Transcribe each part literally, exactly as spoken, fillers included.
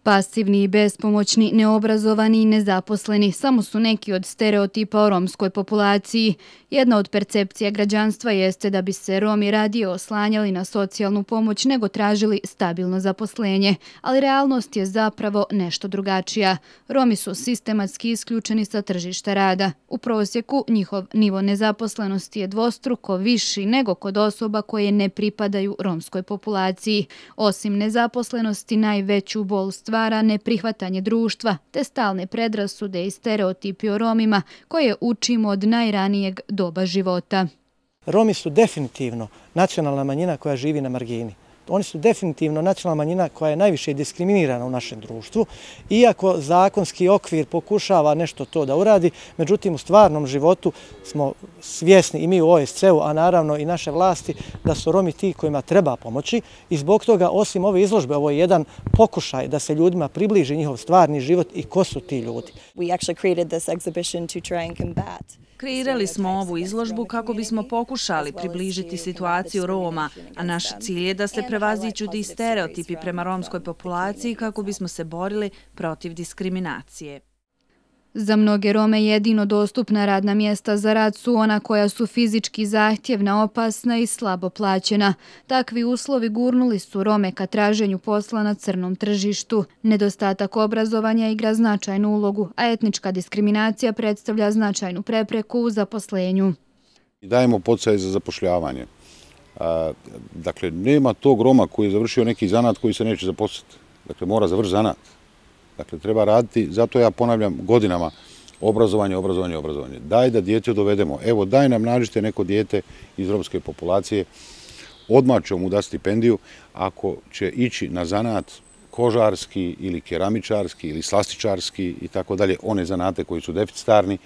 Pasivni i bespomoćni, neobrazovani i nezaposleni samo su neki od stereotipa o romskoj populaciji. Jedna od percepcija građanstva jeste da bi se Romi radije oslanjali na socijalnu pomoć nego tražili stabilno zaposlenje, ali realnost je zapravo nešto drugačija. Romi su sistematski isključeni sa tržišta rada. U prosjeku njihov nivo nezaposlenosti je dvostruko viši nego kod osoba koje ne pripadaju romskoj populaciji. Osim nezaposlenosti, najveću bol stvara neprihvatanje društva te stalne predrasude i stereotipi o Romima koje učimo od najranijeg doba života. Romi su definitivno nacionalna manjina koja živi na margini. Oni su definitivno nacionalna manjina koja je najviše diskriminirana u našem društvu, iako zakonski okvir pokušava nešto to da uradi, međutim u stvarnom životu smo svjesni i mi u O S C E-u, a naravno i naše vlasti, da su Romi ti kojima treba pomoći i zbog toga, osim ove izložbe, ovo je jedan pokušaj da se ljudima približi njihov stvarni život i ko su ti ljudi. Kreirali smo ovu izložbu kako bismo pokušali približiti situaciju Roma, a naš cilj je da se prevaziđu ti stereotipi prema romskoj populaciji kako bismo se borili protiv diskriminacije. Za mnoge Rome jedino dostupna radna mjesta za rad su ona koja su fizički zahtjevna, opasna i slabo plaćena. Takvi uslovi gurnuli su Rome ka traženju posla na crnom tržištu. Nedostatak obrazovanja igra značajnu ulogu, a etnička diskriminacija predstavlja značajnu prepreku u zaposlenju. Dajemo podsticaj za zapošljavanje. Dakle, nema tog Roma koji je završio neki zanat koji se neće zaposliti. Dakle, mora završiti zanat. Dakle, treba raditi, zato ja ponavljam godinama, obrazovanje, obrazovanje, obrazovanje. Daj da dijete dovedemo. Evo, daj nam nađite neko dijete iz romske populacije, odmah ćemo mu dati stipendiju, ako će ići na zanat kožarski ili keramičarski ili slastičarski i tako dalje, one zanate koji su deficitarni,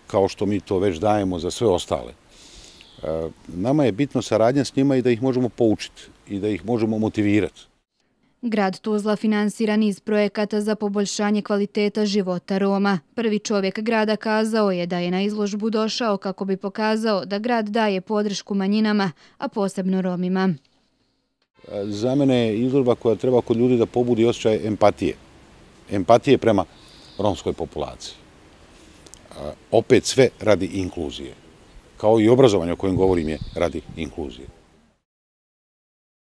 kao što mi to već dajemo za sve ostale. Nama je bitno saradnja s njima i da ih možemo poučiti i da ih možemo motivirati. Grad Tuzla finansira niz projekata za poboljšanje kvaliteta života Roma. Prvi čovjek grada kazao je da je na izložbu došao kako bi pokazao da grad daje podršku manjinama, a posebno Romima. Za mene je izložba koja treba kod ljudi da pobudi osjećaj empatije. Empatije prema romskoj populaciji. Opet sve radi inkluzije. Kao i obrazovanje o kojem govorim je radi inkluzije.